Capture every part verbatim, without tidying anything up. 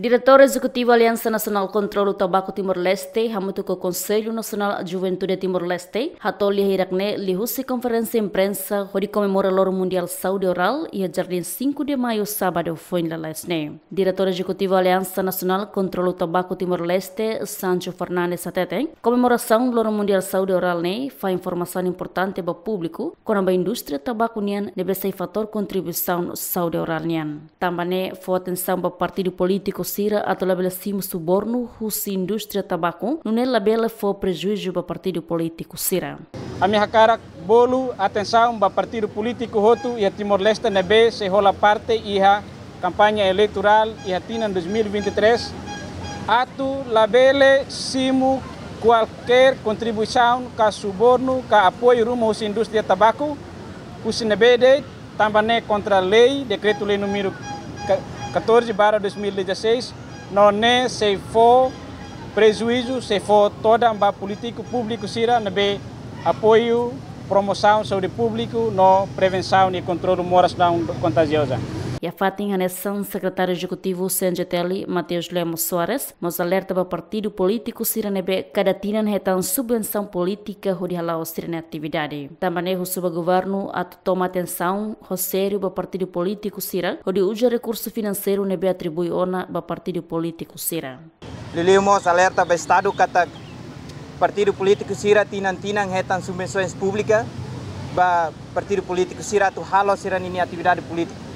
Diretór Ezekutivu Aliansa Nasionál Kontrolu Tabaku Timor-Leste, hamutuk ho Konsellu Nasionál Juventude Timor-Leste, hato'o lia hirak-ne'e liuhusi konferénsia imprensa hodi komemora Loron Mundiál Saúde Orál iha Jardín Cinco de Maio, sábadu foin lalais ne'e. Diretór Ezekutivu Aliansa Nasionál Kontrolu Tabaku Timor-Leste, Sancho Fernandes, hateten, komemorasaun Loron Mundiál Saúde Orál ne'e fahe informasaun importante ba públiku kona-ba indústria tabaku nian ne'ebé sai fatór kontribuisaun saúde orál nian. Tanba ne'e fó atensaun ba partidu polítiku sira atu labele simu subornu husi indústria tabaku, nune'e labele fó prejuízu ba partidu polítiku sira. Ami hakarak bolu atensaun ba partidu polítiku hotu iha Timor-Leste ne'ebé sei hola parte iha kampaña eleitorál iha tinan dois mil e vinte e três, atu labele simu kualkér kontribuisaun ka subornu ka apoiu ruma husi indústria tabaku, husi ne'ebé de'it, tanba ne'e kontra lei, dekretu-lei númeru ka-, catorze barra dois mil e dezasseis, no ne'e sei fó prejuízu, sei fó todan ba polítiku públiku sira ne'ebé apoiu promosaun saúde públiku no prevensaun i kontrolu moras não contagiosa. Iha fatin hanesan, Sekretáriu Ezekutivu C N J T L, Mateus Lemos Soares, mós alerta ba partidu polítiku sira ne'ebé kada tinan hetan subvensaun polítika hodi hala'o sira-nia atividade. Tanba ne'e husu ba governu atu toma atensaun ho sériu ba partidu polítiku sira hodi uza rekursu finanseiru ne'ebé atribui ona ba partidu polítiku sira. Liuliu mós alerta ba Estadu katak partidu polítiku sira tinan-tinan hetan subvensoens públika ba partidu polítiku sira atu halo sira-ninia atividade polítika.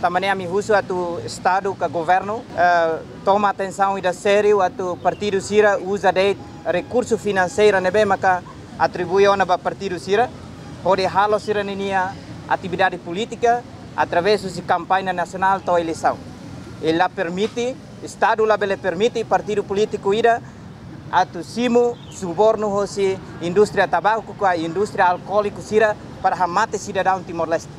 Tanba ne'e ami husu atu Estadu ka governu, eh, toma atensaun ida sériu atu partidu sira uza de'it rekursu finanseiru ne'ebé maka atribui ona ba partidu sira hodi halo sira-ninia atividade polítika através husi kampaña nasionál to'o eleisaun. I la permite, Estadu labele permite partidu polítiku ida atu simu subornu hosi indústria tabaku ka indústria alkoóliku sira para hamate sidadaun Timor-Leste.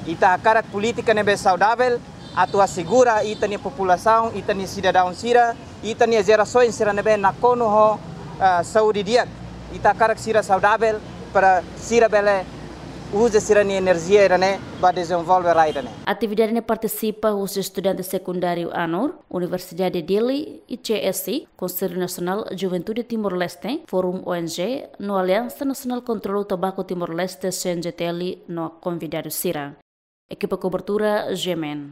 Ita hakarak polítika ne'ebé saudavel atu asegura ita-nia populasaun, ita-nia sidadaun sira, ita-nia jerasoens sira ne'ebé nakonu ho, ah, saúde di'ak. Ita hakarak sira saudavel para sira bele uza sira-nia enerjia ida-ne'e ba dezenvolve rai ida-ne'e. Atividade ne'e partisipa husi estudante sekundáriu ANUR, Universidade Dili, I C S I, Konsellu Nasionál Juventude Timor-Leste, Fórum O N G, no Aliansa Nasionál Kontrolu Tabaku Timor-Leste, C N J T L, no konvidadu sira. Ekipa kobertura, G M N.